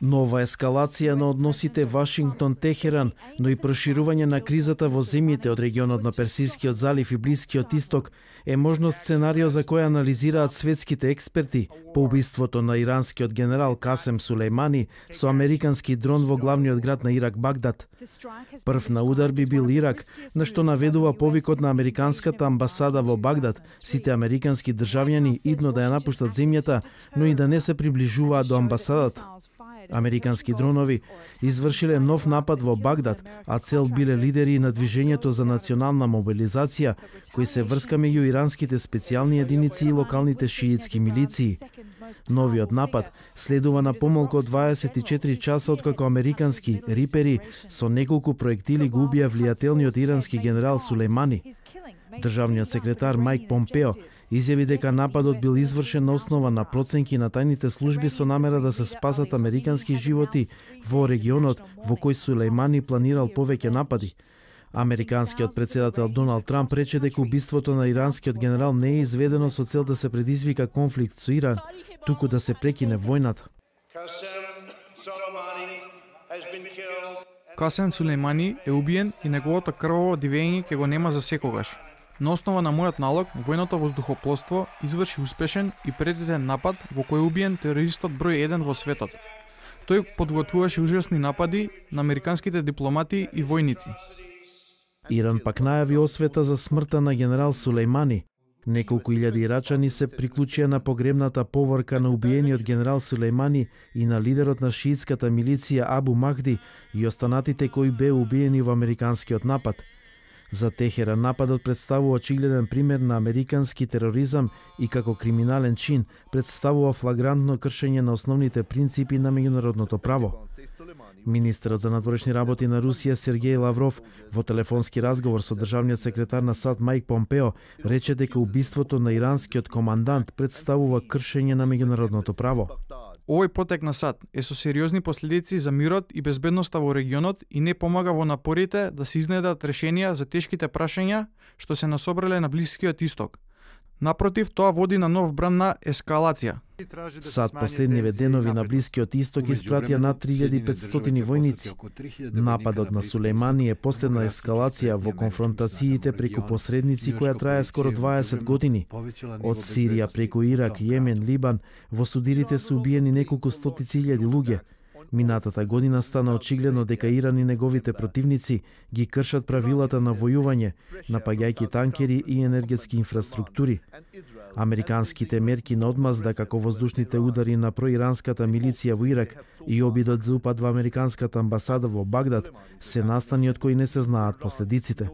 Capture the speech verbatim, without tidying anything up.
Нова ескалација на односите Вашингтон-Техеран, но и проширување на кризата во земјите од регионот на Персискиот залив и Блискиот исток е можно сценарио за кој анализираат светските експерти по убиството на иранскиот генерал Касем Сулејмани со американски дрон во главниот град на Ирак Багдад. Прв на удар би бил Ирак, на што наведува повикот на американската амбасада во Багдад, сите американски државјани идно да ја напуштат земјата, но и да не се приближуваат до амбасадата. Американски дронови извршиле нов напад во Багдад, а цел биле лидери на движењето за национална мобилизација, кои се врска меѓу иранските специјални единици и локалните шиитски милиции. Новиот напад следува на помалку од дваесет и четири часа откако американски рипери со неколку проектили го убија влијателниот ирански генерал Сулејмани. Државниот секретар Мајк Помпео изјави дека нападот бил извршен на основа на проценки на тајните служби со намера да се спасат американски животи во регионот во кој Сулејмани планирал повеќе напади. Американскиот председател Доналд Трамп рече дека убиството на иранскиот генерал не е изведено со цел да се предизвика конфликт со Иран, туку да се прекине војната. Касем Сулејмани е убиен и неговото крваво дивење ќе го нема за секогаш. На основа на мојот налог, војното воздухопловство изврши успешен и прецизен напад во кој убиен терористот број еден во светот. Тој подготвуваше ужасни напади на американските дипломати и војници. Иран пак најави освета за смртта на генерал Сулејмани. Неколку илјади ирачани се приклучија на погребната поворка на убиениот генерал Сулејмани и на лидерот на шиитската милиција Абу Махди и останатите кои беа убиени во американскиот напад. За Техеран нападот представува очигледен пример на американски тероризам и како криминален чин представува флагрантно кршење на основните принципи на меѓународното право. Министерот за надворешни работи на Русија Сергеј Лавров во телефонски разговор со државниот секретар на САД Мајк Помпео рече дека убиството на иранскиот командант представува кршење на меѓународното право. Овој потек на САД е со сериозни последици за мирот и безбедноста во регионот и не помага во напорите да се изнедат решенија за тешките прашања што се насобрале на Блискиот исток. Напротив, тоа води на нов бран на ескалација. САД последниве денови на Блискиот исток испратија над три илјади и петстотини војници. Нападот на Сулејмани е последна ескалација во конфронтациите преку посредници која трае скоро дваесет години. Од Сирија преку Ирак, Јемен, Либан, во судирите се убиени неколку стотици илјади луѓе. Минатата година стана очигледно дека Иран и неговите противници ги кршат правилата на војување, напаѓајќи танкери и енергетски инфраструктури. Американските мерки на одмазда како воздушните удари на проиранската милиција во Ирак и обидот за упад во американската амбасада во Багдад се настани од кои не се знаат последиците.